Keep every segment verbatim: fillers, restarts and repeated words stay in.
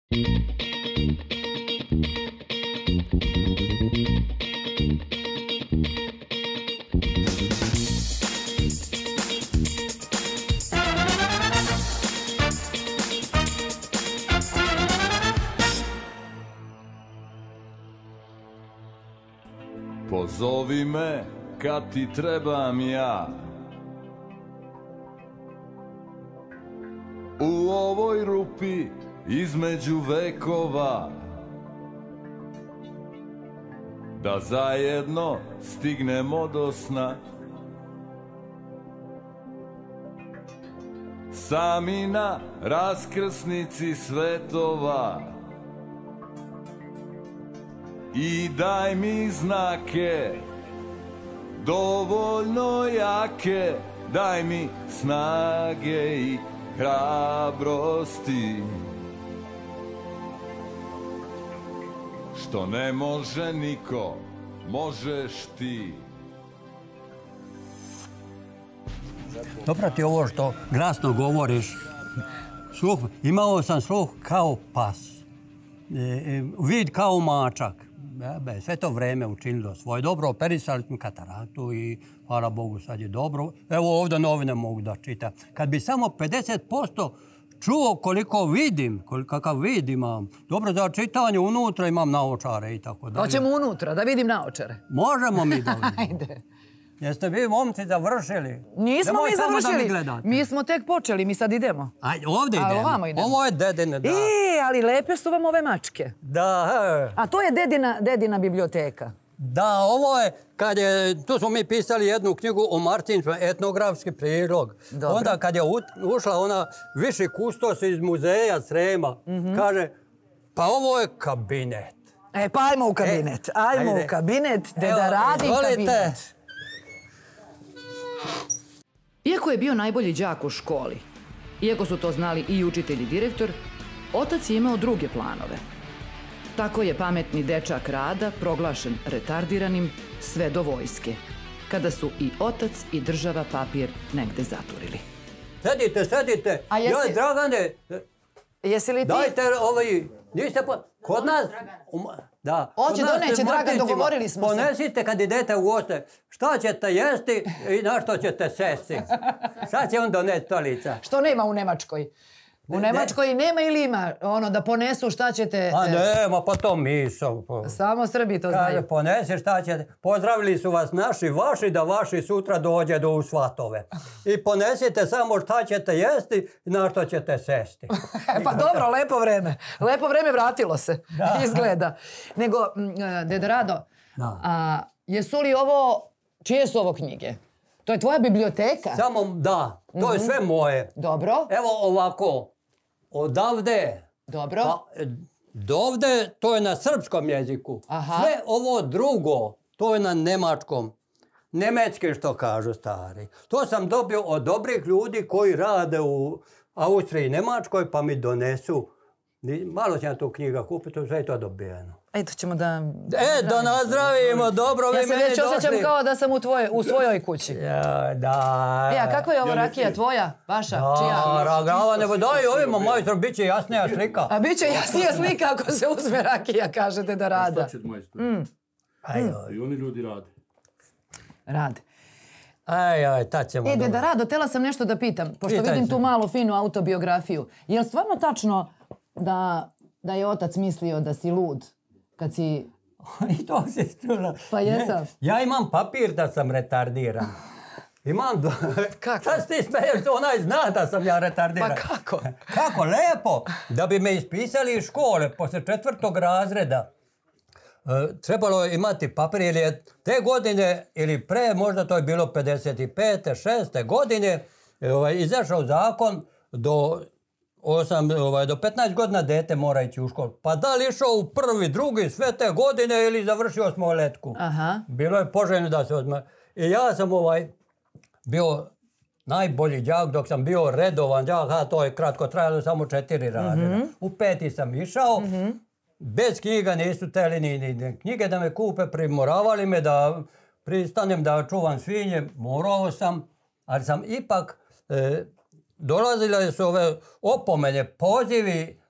Pozovi me kad ti trebam ja. U ovoj rupi između vekova, da zajedno stignemo do sna. Sami na raskrsnici svetova. I daj mi znake, dovoljno jake, daj mi snage i hrabrosti, što ne može niko, možeš ti. Dobro ti ovo što glasno govoriš. Sluh, imao sam sluh kao pas, e, vid kao mačak. Be, sve to vreme učinilo svoje dobro, operisali smo kataraktu i hvala Bogu sad je dobro. Evo ovdje novine mogu da čitam. Kad bi samo pedeset posto čuo koliko vidim, kakav vid imam, dobro za čitanje unutra imam naočare i tako dalje. Hoćemo unutra, da vidim naočare. Možemo mi da vidimo. Ajde. Jeste vi momci završili? Nismo mi završili, mi smo tek počeli, mi sad idemo. Ajde, ovdje idemo. Ovamo idemo. Ovo je dedine, da. E, ali lepe su vam ove mačke. Da. A to je dedina, dedina biblioteka. Da, ovo je, kad je, tu smo mi pisali jednu knjigu o Martinču, etnografski prilog. Dobro. Onda kad je ušla ona viši kustos iz muzeja Srema, mm-hmm. kaže, pa ovo je kabinet. E, pa ajmo u kabinet, e, ajmo ajde. u kabinet, deda Evo, radi izvolite. Kabinet. Iako je bio najbolji đak u školi, iako su to znali i učitelj i direktor, otac je imao druge planove. Tako je pametni dečak Rada proglašen retardiranim sve do vojske, kada su i otac i država papir negde zaturili. Sedite, sedite. A jesi... Joj, Dragane, jesi li ti... dajte ovaj, niste po... Kod nas... Da. Oće, doneće, Dragan, dogovorili smo se. Ponesite kad idete u goste šta ćete jesti i na što ćete sesti. Sad će on doneti stolica. Što nema u Nemačkoj? U Nemačkoj nema ili ima ono da ponesu šta ćete... A nema, pa to miso. Samo Srbi to znaju. Kaže, ponesi šta ćete. Pozdravili su vas naši, vaši, da vaši sutra dođe do u svatove. I ponesite samo šta ćete jesti i na što ćete sesti. Pa dobro, lepo vreme. Lepo vreme vratilo se, izgleda. Nego, deda Rado, a, jesu li ovo, čije su ovo knjige? To je tvoja biblioteka? Samo, da. To je sve moje. Dobro. Evo ovako. Odavde, dobro. Pa, dovde, to je na srpskom jeziku. Aha. Sve ovo drugo, to je na nemačkom. Nemečki što kažu stari. To sam dobio od dobrih ljudi koji rade u Austriji i Nemačkoj, pa mi donesu. Malo ću ja tu knjiga kupiti, sve je to dobijeno. Eto ćemo da... E, da nazdravimo, dobro, vi meni došli. Ja se već osjećam kao da sam u, tvoje, u svojoj kući. Ja, da. E, a kako je ovo rakija tvoja, vaša, čija? Da, ragava, nego daj ovima, majstor, bit će jasnija slika. A bit će jasnija slika ako se uzme rakija, kažete da Rada. Šta će majstor? Mm. I oni ljudi rade. Rade. Aj, aj, tad ćemo. E, deda Rado, tela sam nešto da pitam, pošto Pitaj vidim se. tu malu finu autobiografiju. Je li stvarno tačno da, da je otac mislio da si lud kad si... I to si čula. Pa jesam. Ne, ja imam papir da sam retardiran. Imam... Do... Kako? Sad ti smeješ, onaj zna da sam ja retardiran. Pa kako? Kako, lepo. Da bi me ispisali iz škole posle četvrtog razreda. E, trebalo je imati papir, ili je te godine, ili pre, možda to je bilo pedeset pete, šeste godine, ovaj, izašao zakon do... Osam, ovaj, do petnaest godina dete mora ići u školu. Pa da li išao u prvi, drugi, sve te godine ili završio osmoletku? Aha. Bilo je poželjno da se odmah. I ja sam ovaj bio najbolji đak dok sam bio redovan đak, a to je kratko trajalo samo četiri razreda. Mm-hmm. U peti sam išao, mm-hmm. bez knjiga nisu teli ni, ni knjige da me kupe, primoravali me da pristanem da čuvam svinje, morao sam, ali sam ipak... E, dolazile su ove opomene, pozivi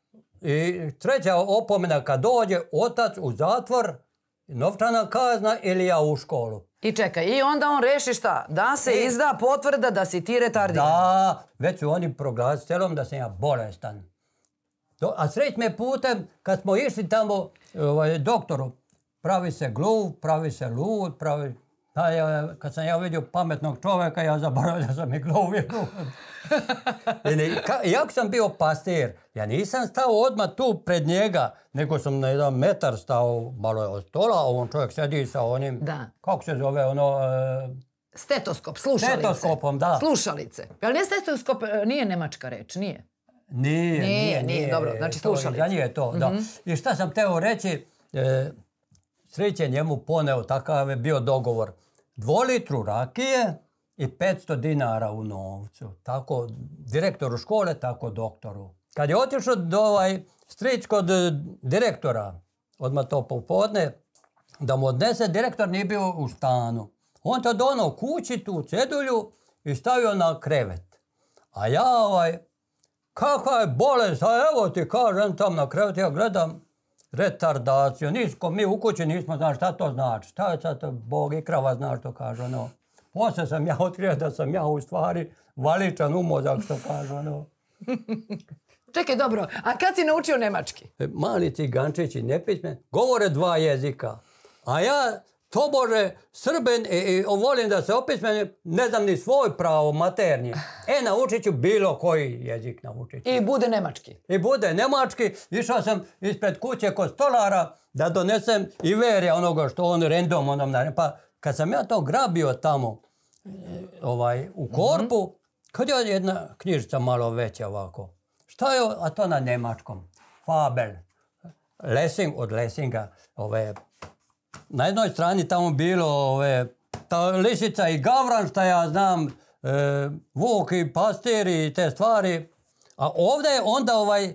I treća opomena kad dođe otac u zatvor, novčana kazna ili ja u školu. I čekaj, i onda on reši šta? Da se I... izda potvrda da si ti retardiran. Da, već su oni proglasili celom da sam ja bolestan. Do, a sreć me putem, kad smo išli tamo ovaj, doktoru, pravi se gluv, pravi se lud, pravi... A ja, kad sam ja vidio pametnog čovjeka, ja zaboravio da sam i gluv i lud. Jak sam bio pastir, ja nisam stao odmah tu pred njega, nego sam na jedan metar stao, malo je od stola, a on čovjek sedi sa onim, da. Kako se zove ono... Uh, Stetoskop, slušalice. Stetoskopom, da. Slušalice. Ali nije stetoskop, nije nemačka reč, nije? Nije, nije, nije. Nije, nije, dobro, znači slušalice. Za nje je to, da. Mm-hmm. I šta sam teo reći, e, Sreće njemu poneo, takav je bio dogovor. Dvolitru rakije i petsto dinara u novcu. Tako direktoru škole, tako doktoru. Kad je otišao do ovaj stric kod direktora, odmah to popodne, da mu odnese, direktor nije bio u stanu. On to donao kući tu cedulju i stavio na krevet. A ja ovaj, kakva je bolest, a evo ti kažem tam na krevet, ja gledam retardaciju. Nisko, mi u kući nismo znali šta to znači. Šta je sad, Bog i krava zna što kaže ono. Poslije sam ja otkrio da sam ja u stvari valičan u mozak što kaže ono. Čekaj, dobro, a kad si naučio nemački? Mali cigančići, nepismen, govore dva jezika. A ja, tobože, Srbin i, i volim da se opismenim, ne znam ni svoj pravo maternji. E, naučit ću bilo koji jezik naučit ću. I bude nemački. I bude nemački. Išao sam ispred kuće kod stolara da donesem Iverija onoga što on random onom naredno. Pa kad sam ja to grabio tamo ovaj, u korpu, mm-hmm. kad je jedna knjižica malo veća ovako. Šta je, a to na njemačkom? Fabel. Lessing od Lessinga. Ove, na jednoj strani tamo bilo ove, ta lisica i gavran, šta ja znam, e, vuk i pastir i te stvari. A ovdje je onda ovaj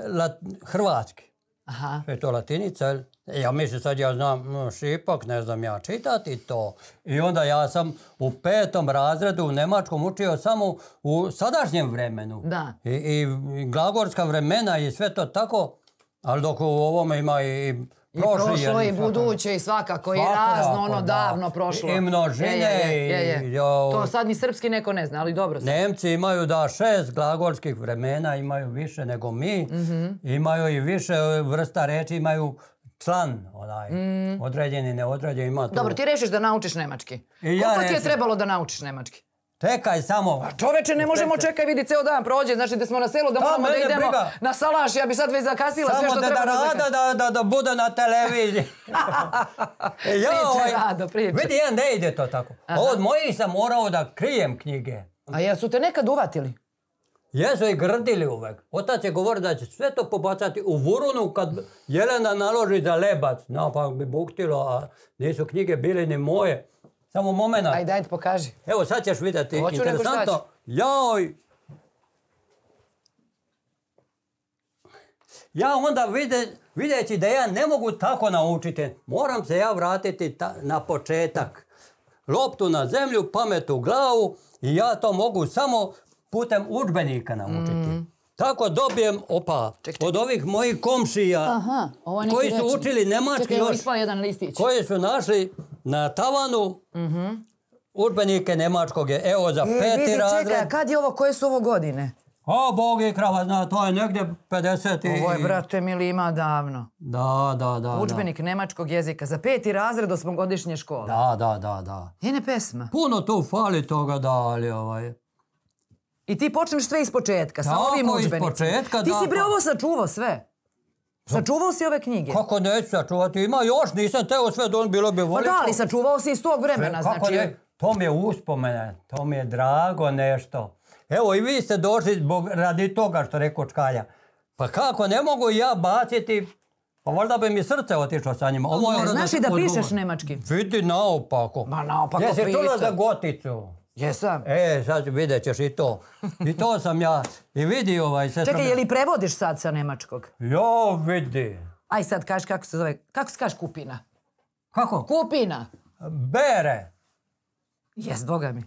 lat, hrvatski. Aha. Je to latinica. Ja mislim sad ja znam no, šipak, ne znam ja čitati to. I onda ja sam u petom razredu u nemačkom učio samo u sadašnjem vremenu. Da. I, i glagolska vremena i sve to tako. Ali dok u ovome ima i I prošlo i buduće i svakako i razno, ono davno prošlo. I množine. Je, je, je, je. I, jo, to sad ni srpski neko ne zna, ali dobro. Nemci imaju da šest glagolskih vremena, imaju više nego mi. Mm-hmm. Imaju i više vrsta reči, imaju član, onaj, mm. određeni, neodređeni. Ima tu... Dobro, ti rešiš da naučiš nemački. I Koliko ja ti je trebalo da naučiš nemački? Čekaj samo. A čoveče, ne možemo čekaj, vidi, ceo dan prođe. Znači da smo na selu, da moramo da idemo briga. Na salaš. Ja bi sad već zakasnila samo sve što da treba da zakasnila. Samo da, da, da bude na televiziji. ja, priče, ovaj, Rado, priče. Vidi, ja ne ide to tako. Aha. Od mojih sam morao da krijem knjige. A jel su te nekad uvatili? Jesu i grdili uvek. Otac je govorio da će sve to pobacati u vurunu kad Jelena naloži za lebac. Napak bi buktilo, a nisu knjige bile ni moje. Samo momena. Ajde, ajde, pokaži. Evo, sad ćeš vidjeti. Hoću interesantno. Joj! Ja onda vide, videći da ja ne mogu tako naučiti, moram se ja vratiti ta, na početak. Loptu na zemlju, pamet u glavu i ja to mogu samo putem udžbenika naučiti. Mm. Tako dobijem, opa, ček, ček. Od ovih mojih komšija, aha, koji su reči. Učili nemački čekaj, još, jedan listić. Koji su našli na tavanu mm-hmm. udžbenike nemačkog. Evo za e, peti vidi, razred. Čekaj, kad je ovo, koje su ovo godine? O, Bog i krava zna, to je negdje pedeset i... Ovo je, brate mili, ima davno. Da, da, da. Udžbenik da. Nemačkog jezika za peti razred osmogodišnje škole. Da, da, da, da. Jene pesma. Puno tu fali toga da, ali ovaj... I ti počneš sve iz početka, sa ovim udžbenicima. Početka, ti si bre ovo sačuvao sve. Sačuvao si ove knjige. Kako neću sačuvati? Ima još, nisam teo sve, don bilo bi voliko. Pa da, ali sačuvao si iz tog vremena. Sve, kako znači... ne? To mi je uspomene, to mi je drago nešto. Evo i vi ste došli zbog, radi toga što rekao Čkalja. Pa kako, ne mogu ja baciti, pa možda bi mi srce otišlo sa njima. Ovo je, znaš i da pišeš nemački? Vidi naopako. Ma naopako Jesi priča. čula za Goticu? Jesam. E, sad vidjet ćeš i to. I to sam ja. I vidi ovaj... Čekaj, sam... je li prevodiš sad sa nemačkog? Jo, vidi. Aj sad kaži kako se zove. Kako se kaže kupina? Kako? Kupina. Bere. Jes, boga mi.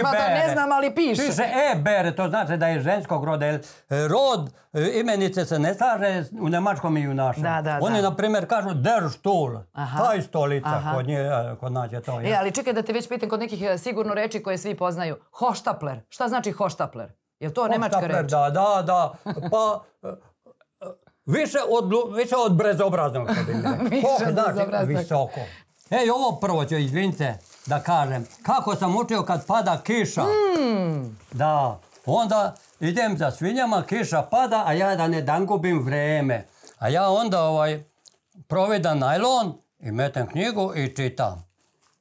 Ma da ne znam, ali piše. Piše e-bere, to znači da je ženskog roda. Jer rod imenice se ne slaže u nemačkom i u našem. Da, da, Oni, da. na primjer, kažu der Stuhl, Aha. taj stolica, Aha. kod, nje, kod nas je to. E, ali čekaj da te već pitam kod nekih e, sigurno reči koje svi poznaju. Hoštapler. Šta znači hoštapler? Je li to nemačka Hoštapler, reč? Da, da, da. Pa... Više od, više od brezobraznog, što bi mi rekao. Više Hoh od znači bezobraznog. visoko. Ej, ovo prvo ću, izvinite, da kažem. Kako sam učio kad pada kiša. Mm. Da. Onda idem za svinjama, kiša pada, a ja da ne dan gubim vreme. A ja onda ovaj, provedam najlon i metem knjigu i čitam.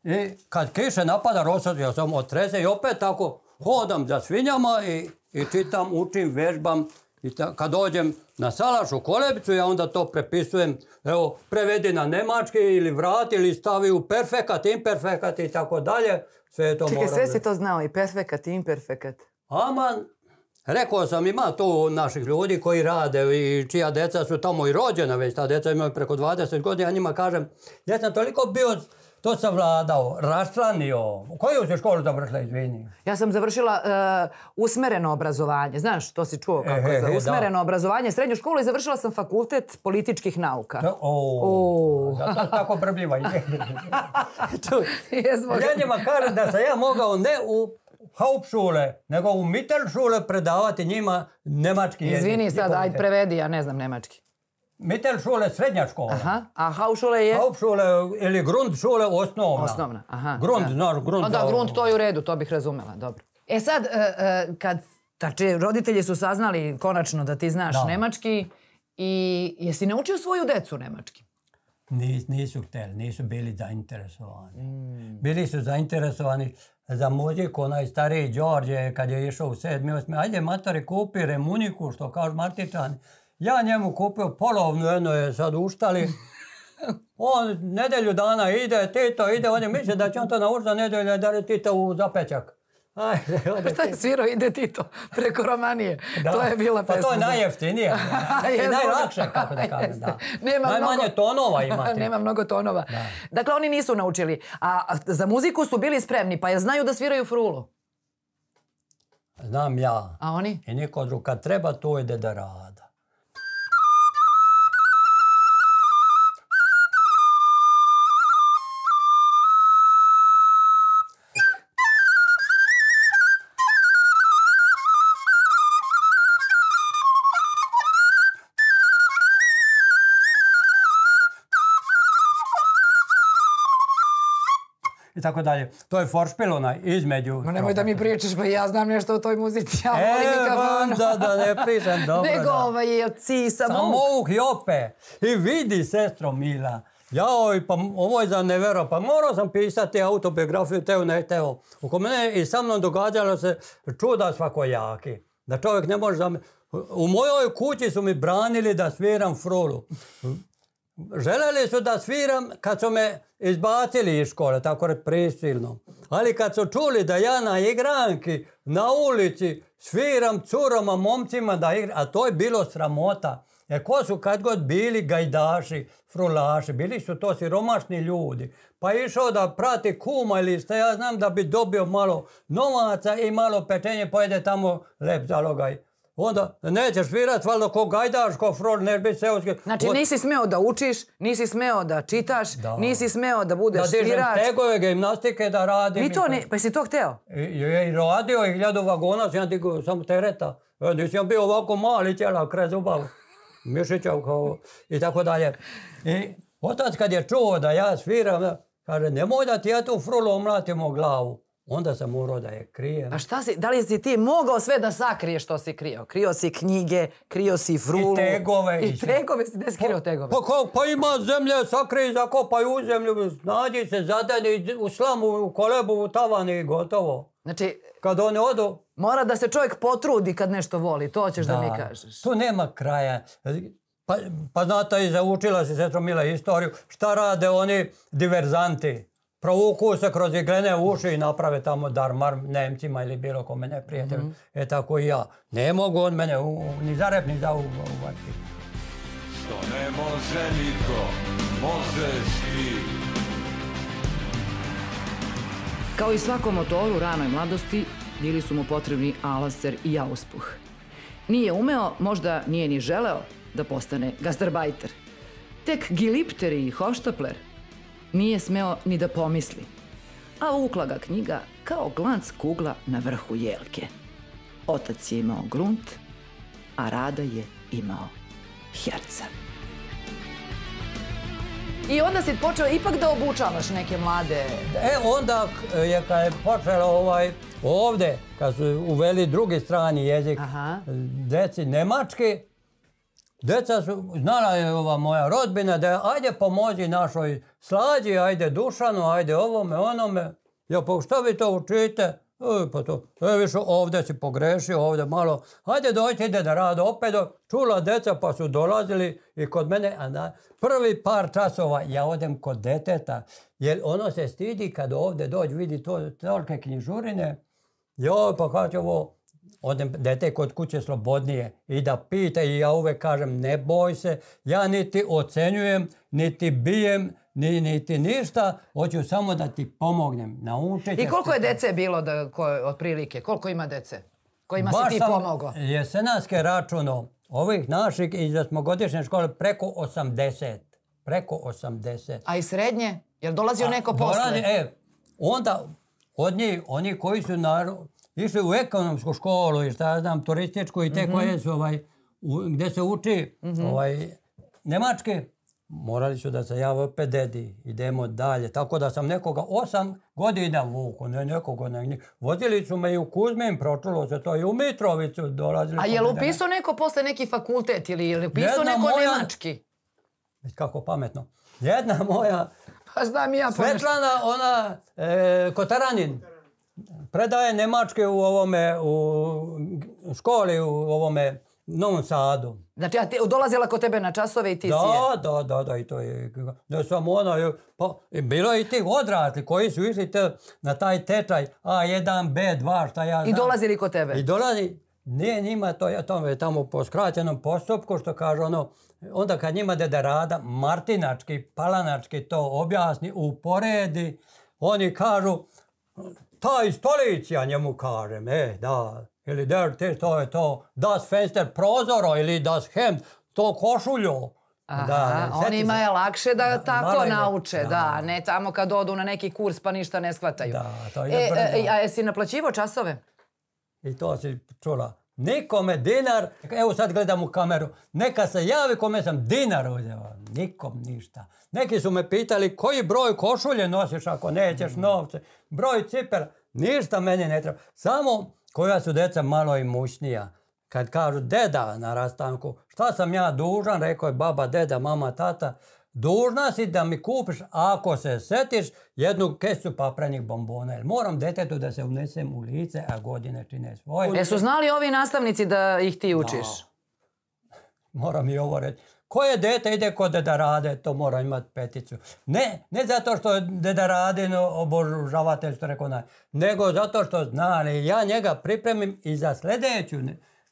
I kad kiše napada, rosadio sam od trese i opet tako hodam za svinjama i, i čitam, učim, vežbam. I ta, kad dođem na salaš u kolebicu, ja onda to prepisujem, evo, prevedi na nemački ili vrati ili stavi u perfekat, imperfekat i tako dalje. Sve je to Čekaj, moram sve da- si to znao, i perfekat, i imperfekat. Aman, rekao sam, ima tu naših ljudi koji rade i čija deca su tamo i rođena već, ta deca imaju preko dvadeset godina, ja njima kažem, ja sam toliko bio to savladao, raščlanio. Koju si školu završila, izvini? Ja sam završila uh, usmereno obrazovanje. Znaš, to si čuo kako E, je za e, da. usmereno obrazovanje. Srednju školu i završila sam fakultet političkih nauka. Da, o, O. zato si tako brbljiva. Jesmo. Ja njima kažem da sam ja mogao ne u Hauptschule, nego u Mittelschule predavati njima nemački jezik. Izvini sad, I ajde prevedi, ja ne znam nemački. Mittelschule, srednja škola. Aha, a Hauptschule je? Hauptschule ili Grundschule, osnovna. Osnovna, aha. Grund, da. znaš, grund. O da, za- grund, to je u redu, to bih razumela, dobro. E sad, e, e, kad, znači, roditelji su saznali konačno da ti znaš Da. nemački i jesi naučio svoju decu nemački? Nis, nisu htjeli, nisu bili zainteresovani. Bili su zainteresovani za muziku, onaj stariji Đorđe, kad je išao u sedmi, osmi, ajde matori kupi remuniku, što kažu Martičani. Ja njemu kupio polovnu, jedno je sad uštali. On nedelju dana ide, Tito ide, on je misli da će on to naučiti za nedelju, da je Tito u zapečak. Ajde, ode Šta je svirao, ide Tito, preko Romanije. Da. To je bila pesma. Pa to je najjeftinije. I Jesmo. najlakše, kako da kažem, da. Nema Najmanje mnogo- tonova imate. Nema mnogo tonova. Dakle, oni nisu naučili. A za muziku su bili spremni, pa je znaju da sviraju frulu. Znam ja. A oni? I niko drug. Kad treba, to ide da rada. I tako dalje. To je foršpil onaj između. Ma nemoj da mi pričaš, pa ja znam nešto o toj muzici. Ja volim E, mikrofon. da, da ne pričam, dobro. Nego da. ovaj je ci samo... Samouk Jope. I vidi, sestro Mila. Jao, pa ovo je za nevero. Pa morao sam pisati autobiografiju, teo ne teo. Oko mene i sa mnom događalo se čuda svakojaki. Da čovjek ne može... Zam... U mojoj kući su mi branili da sviram frulu. Želeli su da sviram kad su me izbacili iz škole, tako reći prisilno. Ali kad su čuli da ja na igranki, na ulici, sviram curama, momcima da igram, a to je bilo sramota. Jer ko su kad god bili gajdaši, frulaši, bili su to siromašni ljudi. Pa je išao da prati kuma ili šta ja znam da bi dobio malo novaca i malo pečenje, pojede tamo lep zalogaj. Onda nećeš svirat, valjda ko gajdaš, ko frol, ne bi seoski. Znači nisi smeo da učiš, nisi smeo da čitaš, Da. nisi smeo da budeš Da dižem svirač. tegove, gimnastike da radim. Ni to i ne, pa si to hteo? I, i, i radio i hiljadu vagona, sam ja digao samo tereta. E, nisam bio ovako mali ćela, kraj zubav, mišićav kao i tako dalje. I otac kad je čuo da ja sviram, kaže, nemoj da ti ja tu frulu omlatim u glavu. Onda sam morao da je krijem. A šta si, da li si ti mogao sve da sakriješ što si krio? Krio si knjige, krio si frulu. I tegove. I tegove si, gde si krio tegove? Pa, kao, pa ima zemlje, sakrij, zakopaj u zemlju, nađi se, zadani u slamu, u kolebu, u tavan i gotovo. Znači, Kad oni odu... mora da se čovjek potrudi kad nešto voli, to ćeš da, mi kažeš. Tu nema kraja. Pa, pa znate, i zaučila si, sestro Mila, istoriju, šta rade oni diverzanti? Provuku se kroz iglene uši i naprave tamo darmar Nemcima ili bilo kome neprijatelju. Mm-hmm. E tako i ja. Ne mogu on mene u, u, ni za rep, ni za uvati. Što ne može niko, možeš ti. Kao i svakom motoru u ranoj mladosti, bili su mu potrebni alaser i auspuh. Nije umeo, možda nije ni želeo da postane gastarbajter. Tek gilipter i hoštapler nije smeo ni da pomisli, a vukla ga knjiga kao glanc kugla na vrhu jelke. Otac je imao grunt, a Rada je imao herca. I onda si počeo ipak da obučavaš neke mlade... E, onda je kad je počelo ovaj, ovde, kad su uveli drugi strani jezik, Aha. deci nemački, deca su, znala je ova moja rodbina da ajde pomozi našoj Slađi, ajde Dušanu, ajde ovome, onome. Ja, pa što vi to učite? E, pa to, e, više ovde si pogrešio, ovde malo. Ajde dojte, ide da rade opet. Čula deca pa su dolazili i kod mene, a na prvi par časova ja odem kod deteta, jer ono se stidi kad ovde dođe, vidi to, tolike knjižurine. Joj, pa kad će ovo, odem dete kod kuće slobodnije i da pita i ja uvek kažem ne boj se, ja niti ocenjujem, niti bijem, ni, niti ništa, hoću samo da ti pomognem, naučiti. I koliko je dece bilo da, ko, otprilike? Koliko ima dece? Kojima Baš si ti sam pomogao? jesenarske računo ovih naših iz osmogodišnje škole preko osamdeset. Preko osamdeset. A i srednje? Jel dolazio neko posle? Dolazi, e, onda od njih, oni koji su na, išli u ekonomsku školu i šta ja znam, turističku i te mm-hmm. koje su ovaj, u, gde se uči mm-hmm. ovaj, nemački, morali su da se jave opet dedi, idemo dalje. Tako da sam nekoga osam godina vuku, ne nekoga na njih. Vozili su me i u Kuzmin, pročulo se to i u Mitrovicu dolazili. A je li upisao neko posle neki fakultet ili je li upisao neko moja, nemački? Kako pametno. Jedna moja pa znam ja Svetlana, ona e, Kotaranin, predaje nemačke u ovome, u školi u ovome Novom Sadu. Znači, ja ti, dolazila kod tebe na časove i ti da, si je? Da, da, da, i to je, da sam ona, pa, bilo je i tih odrasli koji su išli te, na taj tečaj A jedan, B dva, šta ja znam. I dolazili kod tebe? I dolazi, nije njima to, ja to je tamo po skraćenom postupku, što kaže ono, onda kad njima deda Rada martinački, palanački to objasni, uporedi, oni kažu, taj stolic, ja njemu kažem, e, da, ili der, te, to je to, das Fenster prozoro ili das Hemd, to košulju. Aha, da, onima je lakše da, da tako da, nauče, da. da, ne tamo kad odu na neki kurs pa ništa ne shvataju. Da, to ide e, brzo. A jesi naplaćivo časove? I to si čula. Nikome dinar, evo sad gledam u kameru, neka se javi kome sam dinar uzeo, nikom ništa. Neki su me pitali koji broj košulje nosiš ako nećeš novce, broj cipela, ništa meni ne treba. Samo koja su deca malo imućnija. Kad kažu deda na rastanku, šta sam ja dužan, rekao je baba, deda, mama, tata, dužna si da mi kupiš, ako se setiš, jednu kesu paprenih bombona. Jer moram detetu da se unesem u lice, a godine čine svoje. E su znali ovi nastavnici da ih ti učiš? Da. Moram i ovo reći. Koje dete ide kod deda Rade, to mora imati peticu. Ne, ne zato što je deda Radin obožavatelj, što rekao naj, nego zato što zna, ja njega pripremim i za sljedeću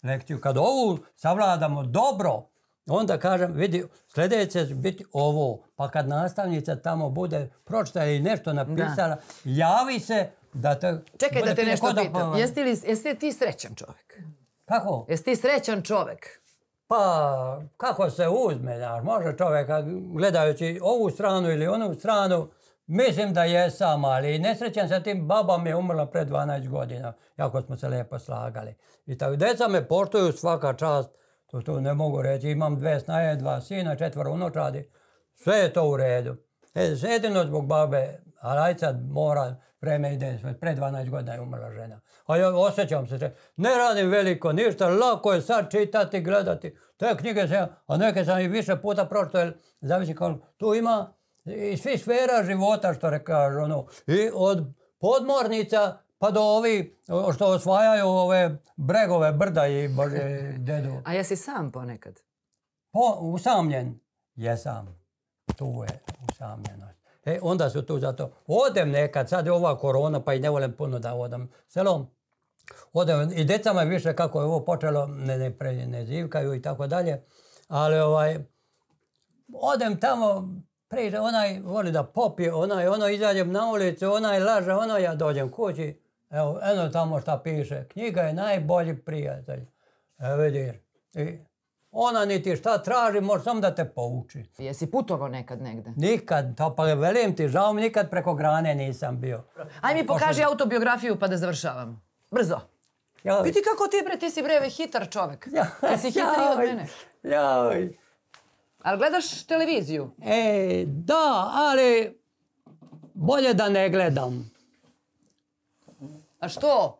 lekciju. Kad ovu savladamo dobro, onda kažem, vidi, sljedeće će biti ovo, pa kad nastavnica tamo bude pročitala i nešto napisala, da. Javi se da te... Čekaj da te nešto pitam, jesi li, jesi li ti srećan čovjek? Kako? Jesi ti srećan čovjek? Pa, kako se uzme, znaš, može čovjek, gledajući ovu stranu ili onu stranu, mislim da jesam, ali nesrećan sa tim, baba mi je umrla pred dvanaest godina, jako smo se lijepo slagali. I tako, deca me poštuju svaka čast, to, to ne mogu reći, imam dve snaje, dva sina, četvoro unučadi, sve je to u redu. E, jedino zbog babe, a rajca mora, vreme ide, pred dvanaest godina je umrla žena. A ja osjećam se, ne radim veliko ništa, lako je sad čitati, gledati. Te knjige sam, a neke sam i više puta pročito, jer zavisi kao, tu ima i svi sfera života, što rekaš, ono, i od podmornica pa do ovi što osvajaju ove bregove, brda i bože, dedu. A jesi sam ponekad? Po, usamljen, jesam. Tu je usamljenost. E, onda su tu zato. Odem nekad, sad je ova korona, pa i ne volim puno da odem selom. Odem, i decama više kako je ovo počelo, ne, ne, pre, ne zivkaju i tako dalje. Ali ovaj, odem tamo, priča, onaj voli da popije, onaj, ono izađem na ulicu, onaj laže, ono ja dođem kući. Evo, eno tamo šta piše. Knjiga je najbolji prijatelj. Evo vidiš. I ona niti šta traži, može samo da te pouči. Jesi putovao nekad negde? Nikad, to pa velim ti, žao mi nikad preko grane nisam bio. Aj mi pokaži autobiografiju pa da završavam. Brzo. Joj. Vidi kako ti bre, ti si bre hitar čovek. Ti si hitar i od mene. Joj. Ali gledaš televiziju? E, da, ali bolje da ne gledam. A što?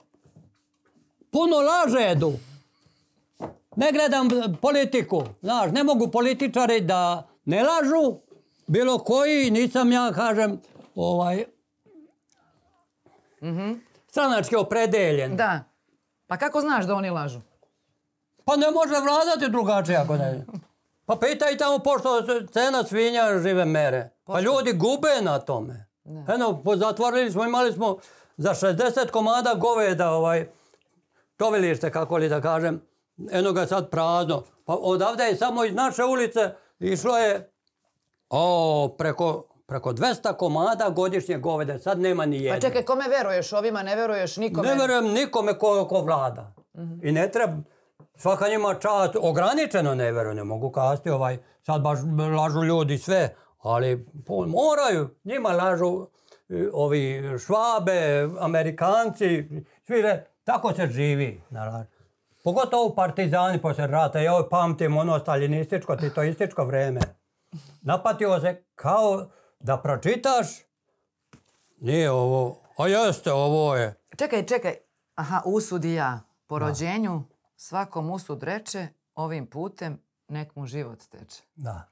Puno lažedu. Ne gledam politiku. Znaš, ne mogu političari da ne lažu. Bilo koji, nisam ja, kažem, ovaj... Mm-hmm. stranački opredeljen. Da. Pa kako znaš da oni lažu? Pa ne može vladati drugačije ako ne. Pa pitaj tamo pošto cena svinja žive mere. Pa ljudi gube na tome. Eno, zatvorili smo, imali smo za šezdeset komada goveda, ovaj, tovilište, kako li da kažem. Eno ga sad prazno. Pa odavde je samo iz naše ulice išlo je o, preko, preko dvesta komada godišnje govede. Sad nema ni jedne. Pa čekaj, kome veruješ? Ovima ne veruješ nikome? Ne verujem nikome ko, ko vlada. Mm-hmm. I ne treba, svaka njima čast, ograničeno ne verujem, ne mogu kasti ovaj, sad baš lažu ljudi sve, ali moraju, njima lažu ovi Švabe, Amerikanci, svi re, tako se živi, naravno. Pogotovo partizani poslije rata, ja pamtim ono staljinističko, titoističko vreme. Napatio se kao da pročitaš, nije ovo, a jeste, ovo je. Čekaj, čekaj, aha, usudi ja, po rođenju svakom usud reče, ovim putem nek mu život teče. Da.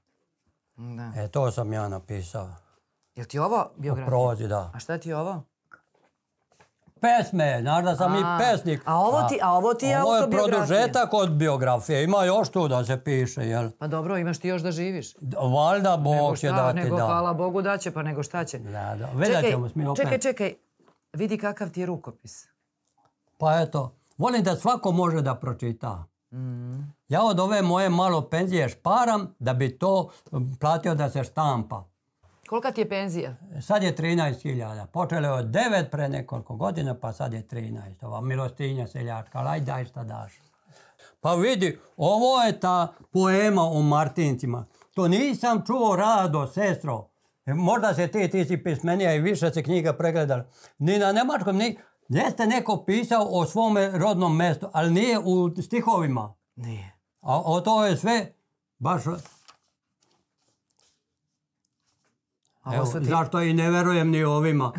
Da. E, to sam ja napisao. Jel ti ovo biografija? U prozi, da. A šta ti je ovo? Pesme, znaš da sam a, i pesnik. A ovo ti, a ovo ti je ovo autobiografija? Ovo je produžetak od biografije, ima još tu da se piše, jel? Pa dobro, imaš ti još da živiš. Valjda Bog će dati, nego, da. Hvala Bogu da će, pa nego šta će. Da, da, vidjet ćemo mi opet. Čekaj, čekaj, vidi kakav ti je rukopis. Pa eto, volim da svako može da pročita. Mm. Ja od ove moje malo penzije šparam da bi to platio da se štampa. Kolika ti je penzija? Sad je trinaest hiljada. Počelo je od devet pre nekoliko godina, pa sad je trinaest. Ova milostinja seljačka, ali aj daj šta daš. Pa vidi, ovo je ta poema o Martincima. To nisam čuo, Rado, sestro. Možda se ti, ti si pismenija i više se knjiga pregledala. Ni na nemačkom, ni... Jeste neko pisao o svome rodnom mestu, ali nije u stihovima. Nije. A o to je sve baš... Evo, ti... zašto i ne verujem ni ovima.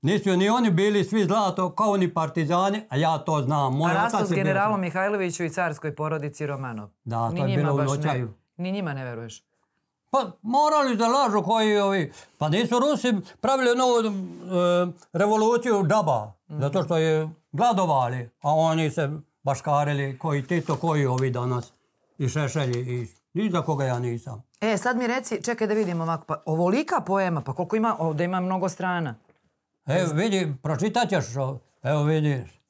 Nisu ni oni bili svi zlato kao ni partizani, a ja to znam. Moj a rastu s generalom bio... Mihajloviću i carskoj porodici Romanov. Da, ni to je bilo u noćaju. Ne, ni njima ne veruješ. Pa morali da lažu koji ovi... Pa nisu Rusi pravili novu e, revoluciju džaba, mm-hmm. zato što je gladovali, a oni se baškarili koji Tito, koji ovi danas. I Šešelji, i ni za koga ja nisam. E, sad mi reci, čekaj da vidim ovako, pa ovolika poema, pa koliko ima, ovdje ima mnogo strana. Evo vidi, pročitat ćeš, evo vidiš.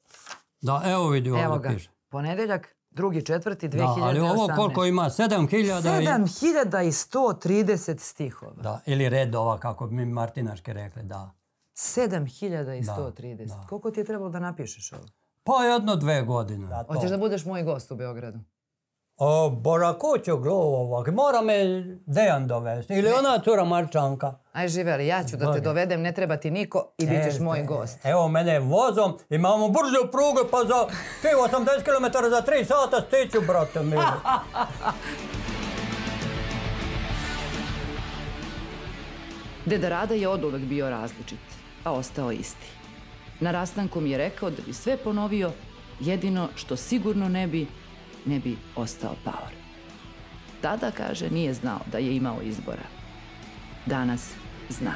Da, evo vidi ovdje evo ga, piše. Ponedeljak, drugi četvrti, dve hiljade osamnaeste. Da, ali ovo koliko ima, sedam hiljada i... sedam hiljada sto trideset stihova. Da, ili redova, kako bi mi Martinaški rekli, da. sedam hiljada sto trideset. Da. Koliko ti je trebalo da napišeš ovo? Pa jedno, dve godine. Da, hoćeš da budeš moj gost u Beogradu? O, Boža, ko će glovovak? Mora me Dejan dovesti. Ili ne. Ona cura Marčanka. Aj živeli, ja ću da te dovedem, ne treba ti niko i bit ćeš moj gost. Evo mene vozom, imamo brzu prugu, pa za osamdeset kilometara za tri sata stiću, brate mi. Deda Rada je oduvek bio različit, a ostao isti. Na rastanku mi je rekao da bi sve ponovio, jedino što sigurno ne bi, ne bi ostao paor. Tada, kaže, nije znao da je imao izbora. Danas zna.